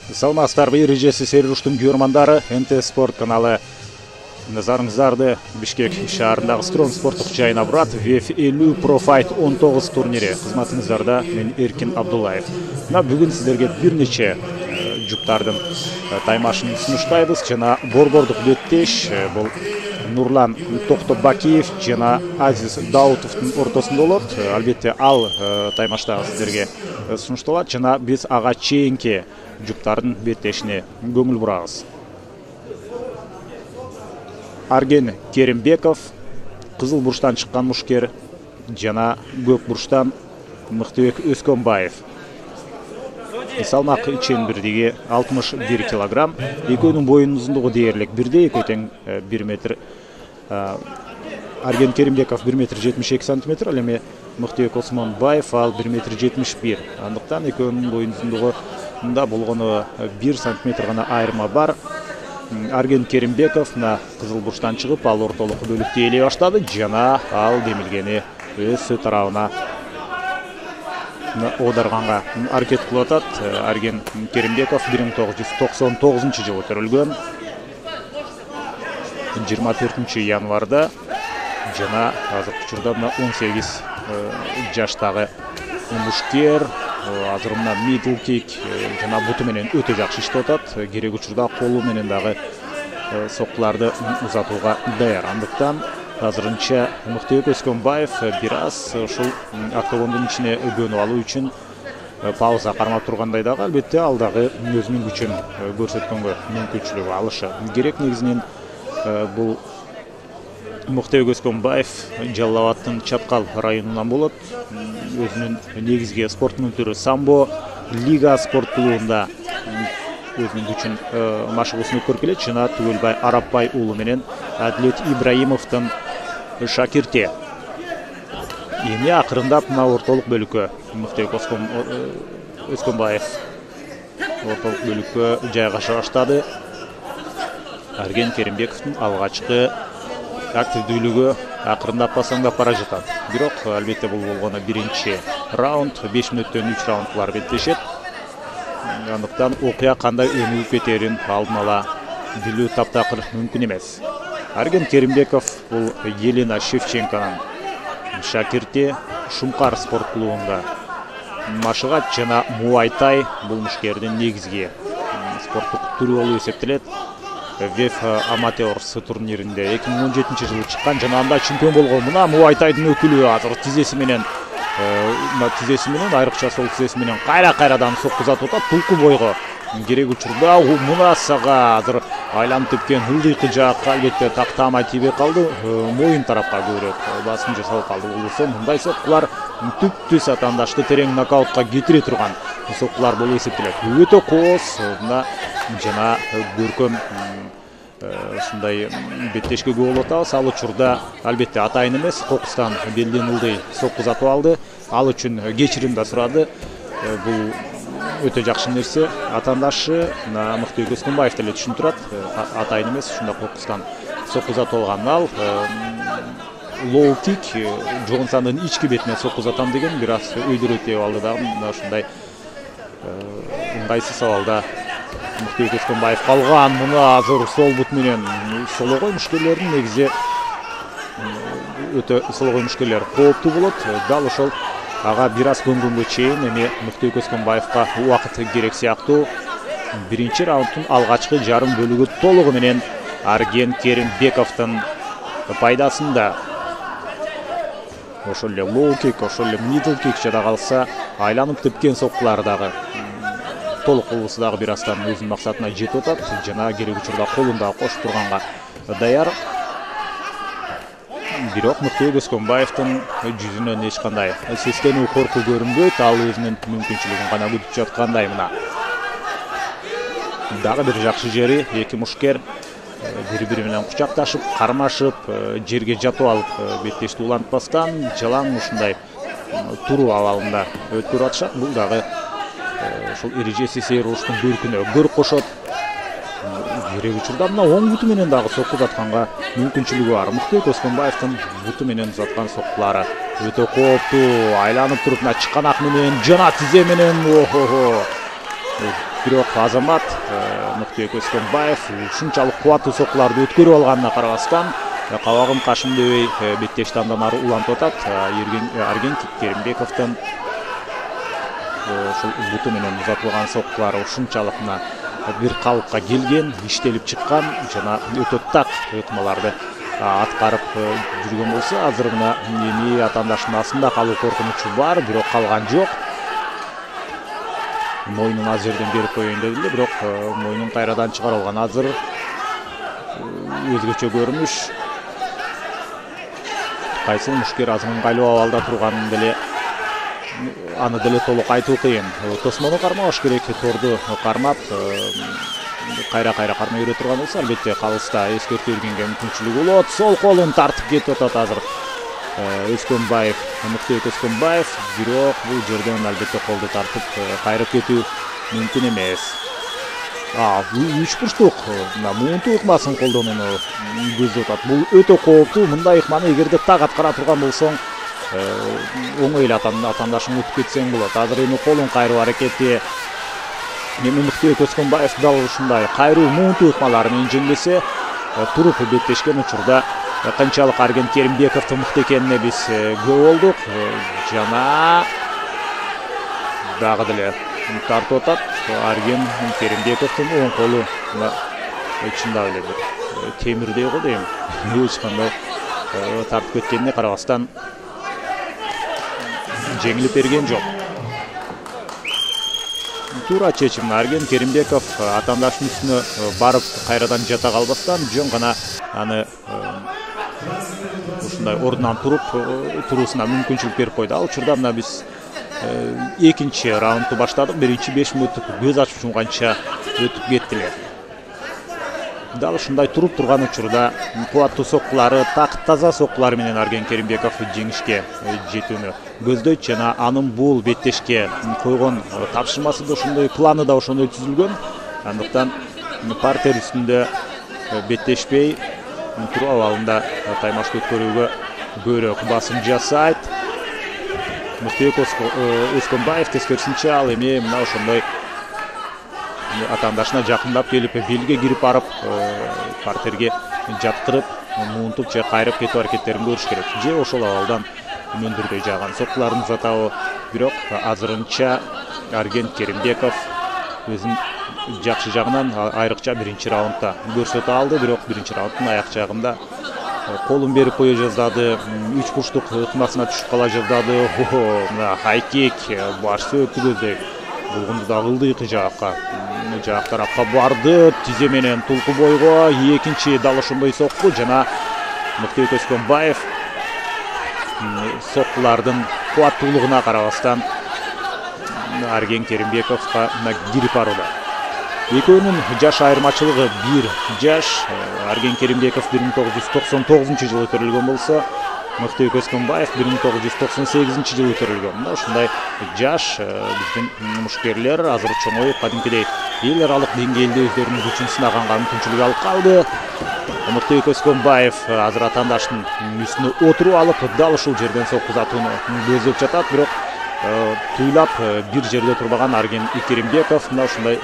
Саламатсыздарбы, эрежеси серуштун көрмандары, НТ Спорт каналы. Назарыңыздарды Бишкек шаарындагы Строн спорттук жайына бурат. ВЕФ 50 Pro Fight 19 турнири кызматыңыздарда мен Эркин Абдуллаев. Бүгүн сиздерге бир нече жуптардын таймашын сунуштайбыз. Жана борбордук беттеш бул Нурлан Токтобакиев жана Азиз Даутовдун ортосунда болот. Албетте ал таймашта сиздерге сунушталат жана биз ага чейинки жуптардын беттешине көңүл бурабыз. Арген Керимбеков, кызыл бурчтан чыккан мушкер жана көк бурчтан Мыктыбек Өскөнбаев. Салмак ичен бирдиги 61 килограмм. Экөөнүн боюнун узундугу дээрлик бирдей, экөө тең 1 метр. Арген Керимбеков 1 метр 72 сантиметр, ал эми Мыктыбек Өскөнбаев ал 1 метр 71. Андыктан экөөнүн боюнун узундугу мында болгону 1 сантиметр гана айырма бар. Арген Керимбеков кызыл бурчтан чыгып, ал ортолук бөлүктө ээлей баштады жана ал демилгени өз тарабына оодарганга аракет кылып атат. Арген Керимбеков 1999-жылы төрөлгөн. 24 январда жана азыркы учурда 18 жаштагы мушкер. Азыр мына middle kick жана буту менен өтө жакшы иштеп атат. Керек учурда колу менен дагы соккуларды узатууга даяр. Андыктан азырынча Мыктыбек Өскөнбаев бир аз ушул октагондун ичине көнүп алуу үчүн пауза кармап тургандай дагы, албетте ал дагы өзүнүн күчүн көрсөткөнгө мүмкүнчүлүк алышы керек. Негизинен бул Мыктыбек Өскөнбаев Жалал Абадтын Чаткал районунан болот. Өзүнүн негизги спорттун түрү самбо, Лига спорт клубунда өзүнүн күчүн машыгуусун өткөрүп келет. Жана Түгөлбай Арапбай уулу менен Адилет Ибраимовдун шакирти. Эми акырындап мына ортолук бөлүккө Мыктыбек Өскөнбаев ортолук бөлүккө жайгаша баштады. Арген Керимбековдун алгачкы активдүүлүгү акырындап басаңдап бара жатат. Бирок албетте бул болгону биринчи раунд, 5 мүнөттөн 3 раундтар беттешет. Андыктан окуя кандай өнүгүп кетерин алдын ала билүү таптакыр мүмкүн эмес. Арген Керимбеков бул Елена Шевченконун шакирти, Шумкар спорт клубунда машыгат жана муайтай бул мушкердин негизги спорттук түрү болуп эсептелет. ВЕФ Аматерс турниринде 2017-жылы чыккан жана анда чемпион болгон. Мына муайтайдын өкүлү азыр тизеси менен айрыкча сол тизеси менен кайрадан соккузатып атат тулку бойго. Керек учурда мына сага азыр айланып тепкен ылдыйкы жакка албетте тактамай тийбей калды, моюн тарапка көбүрөөк басым жасалып калды. Болсо мындай соккулар түп-түз атаандашты терең нокаутка кетире турган соккулар болуп эсептелет. Өтө кооз жана көркөм ушундай беттешке көп болуп атабыз. Ал учурда албетте атайын эмес, кокустан белден ылдый соккузатып алды. Ал үчүн кечирим да сурады. Бул өтө жакшы нерсе. Атаандашы Мыктыбек Өскөнбаев деле түшүнүп турат. Атайын эмес, ушундай кокустан соккузатып алган ал low kick жогон сандын ички бетине соккузатам деген бир аз өйдөрөт деп алды дагы. Мына ушундай ыңгайсыз абалда Мыктыбек Өскөнбаев калган. Мына азыр сол бут менен сологой мушкерлердин негизи өтө сологой мушкерлер кооптуу болот. Дал ошол ага бир аз көнгөнгө чейин эми Мыктыбек Өскөнбаевка убакыт керек сыяктуу. Биринчи раундтун алгачкы жарым бөлүгү толугу менен Арген Керимбековдун пайдасында. Ошол эле low kick, ошол эле middle kick жада калса айланып тепкен соккулар дагы толук кылуусу дагы бир аздан өзүнүн максатына жетип атат жана керек учурда колун дагы кошуп турганга даяр. Бирок Мыктыбек Өскөнбаевдин жүзүнөн эч кандай сескенүү, коркуу көрүнбөйт. Ал өзүнүн мүмкүнчүлүгүн гана күтүп жаткандай. Мына дагы бир жакшы жери, эки мушкер бири-бири менен кучакташып, кармашып, жерге жатып алып беттешти улантпастан жалаң ушундай туруу абалында өткөрүп атышат. Бул дагы ошол эрежеси серуштун көркүнө көр кошот. Керек учурда мына оң буту менен дагы соккузатканга мүмкүнчүлүгү бар. Мыктыбек Өскөнбаевдин буту менен узаткан соккулары өтө кооптуу. Айланып туруп мына чыканак менен жана тизе менен Бирок Азамат Мыктыбек Өскөнбаев ушунчалык кубаттуу соккуларды өткөрүп алганына карабастан кабагым кашым дебей беттешти андан ары улантып атат. Арген Керимбековдун ушул буту менен узатылган соккулары ушунчалык бир калыпка келген, иштелип чыккан жана өтө так ыкмаларды аткарып жүргөн болсо, азыр мына эми атаандаштын астында калуу коркунучу бар, бирок калган жок. Мойнун аз жерден берип коеюн деди эле, бирок мойнун кайрадан чыгарып алган. Азыр өзгөчө көрүнүш. Кайсыл мушкер азыр ыңгайлуу абалда турганын деле аны деле толук айтуу кыйын. Тосмону кармабаш керек, торду кармап кайра кармай бере турган болсо, албетте калыста эскертүү бергенге мүмкүнчүлүгү болот. Сол колун тартып кетип атат азыр Өскөнбаев, Мыктыбек Өскөнбаев, бирок бул жерден албетте колду тартып кайрып кетүү мүмкүн эмес. Үч бурчтук муунтуу ыкмасын колдонууну көздөп атат. Бул өтө кооптуу. Мындай ыкманы эгерде так аткара турган болсоң, оңой эле атаандашың өтүп кетсең болот. Азыр эми колун кайруу аракети. Эми Мыктыбек Өскөнбаев дал ушундай кайруу муунтуу ыкмалар менен жеңбесе, туруп беттешкен учурда канчалык Арген Керимбековдун мыкты экенине биз күбө болдук. Жана дагы деле тартып атат. Арген Керимбековдун оң колу чындап эле бир темирдей го дейм. Эч кандай тартып кеткенине карабастан жеңилип берген жок. Туура чечим. Арген Керимбеков атаандаштын үстүнө барып кайрадан жата калбастан жөн гана аны ушундай ордунан туруусуна мүмкүнчүлүк берип койду. Ал учурда мына биз экинчи раундду баштадык. Биринчи 5 мүнөттүк көз ачып жумганча өтүп кеттилер. Дал ушундай туруп турган учурда кубаттуу соккулары, так таза соккулары менен Арген Керимбеков жеңишке жетүүнү көздөйт жана анын бул беттешке койгон тапшырмасы да ошондой, планы да ошондой түзүлгөн. Андыктан партер үстүндө беттешпей туруп абалында таймашты өткөрүүгө көбүрөөк басым жасайт. Мыктыбек Өскөнбаев тескерисинче ал эми мына ошондой атаандашына жакындап келип, белге кирип барып, партерге жаткырып, муунтуп же кайрып кетүү аракеттерин көрүш керек. Же ошол абалдан мөндүрдөй жааган соккуларын узатабы. Бирок азырынча Арген Керимбеков өзүнүн жакшы жагынан айрыкча биринчи раундда көрсөтө алды. Бирок биринчи раунддун аяк жагында колун берип кое жаздады, үч бурчтук ыкмасына түшүп кала жаздады. Мына хайкик, баш сөөктү көздөй. Булгунду да ылдыйкы жаакка, жаак тарапка барды, тизе менен тулку бойго. Экинчи дал ошондой сокку жана Мыктыбек Өскөнбаев соккулардын кубаттуулугуна карабастан Арген Керимбековго кирип барууда. Экөөнүн жаш айырмачылыгы 1 жаш. Арген Керимбеков 1999-жылы төрөлгөн болсо, Мыктыбек Өскөнбаев 1998-жылы төрөлгөн. Мына ушундай жаш биздин мушкерлер азыр чоңоюп, кадимкидей эл аралык деңгээлде өздөрүнүн күчүн сынаганга мүмкүнчүлүк алып калды. Мыктыбек Өскөнбаев азыр атаандаштын үстүнө отуруп алып, дал ушул жерден сокку узатууну көздөп жатат. Бирок туйлап бир жерде турбаган Арген Керимбеков мына ушундай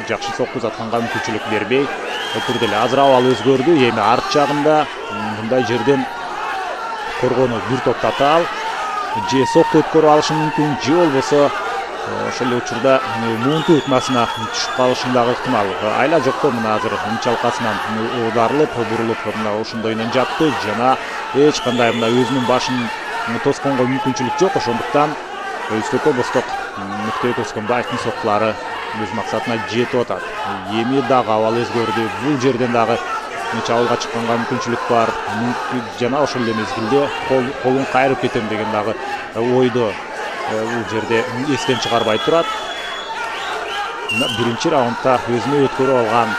жакшы сокку узатканга мүмкүнчүлүк бербей турду эле. Азыр абал өзгөрдү. Эми арт жагында мындай жерден коргону бир топ татаал же сокку өткөрүп алышы мүмкүн, же болбосо ошол эле учурда муунтуу ыкмасына түшүп калышын дагы ыктымал. Айла жокто мына азыр чалкасынан аударылып, бурулуп мына ошондой менен жатты жана эч кандай мына өзүнүн башын тосконго мүмкүнчүлүк жок. Ошондуктан өстөккө босток Мыктыбек Өскөнбаевдин соккулары өз максатына жетип атат. Эми дагы абал өзгөрдү. Бул жерден дагы чабуулга чыкканга мүмкүнчүлүк бар. Жана ошол эле мезгилде колун кайрып кетем деген дагы ойду бул жерде эстен чыгарбай турат. Биринчи раундда өзүнө өткөрүп алган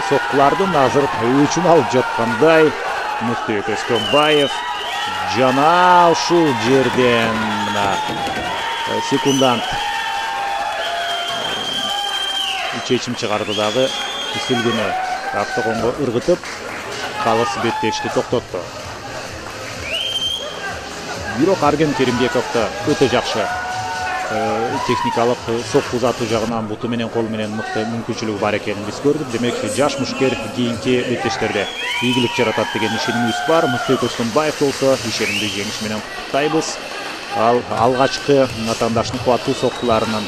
соккулардын азыр өчүн алып жаткандай Мыктыбек Өскөнбаев жана ушул жерден секундант чечим чыгарды дагы үстөлгөнү октогонго ыргытып, калыс беттешти токтотту. Бирок Арген Керимбековду өтө жакшы техникалык сокку узатуу жагынан буту менен колу менен мыкты мүмкүнчүлүгү бар экенин биз көрдүк. Демек жаш мушкер кийинки беттештерде ийгилик жаратат деген ишенимибиз бар. Мыкты Көчкөнбаев болсо ишенимдүү жеңиш менен куттуктайбыз. Ал алгачкы атаандашдын кубаттуу соккуларынын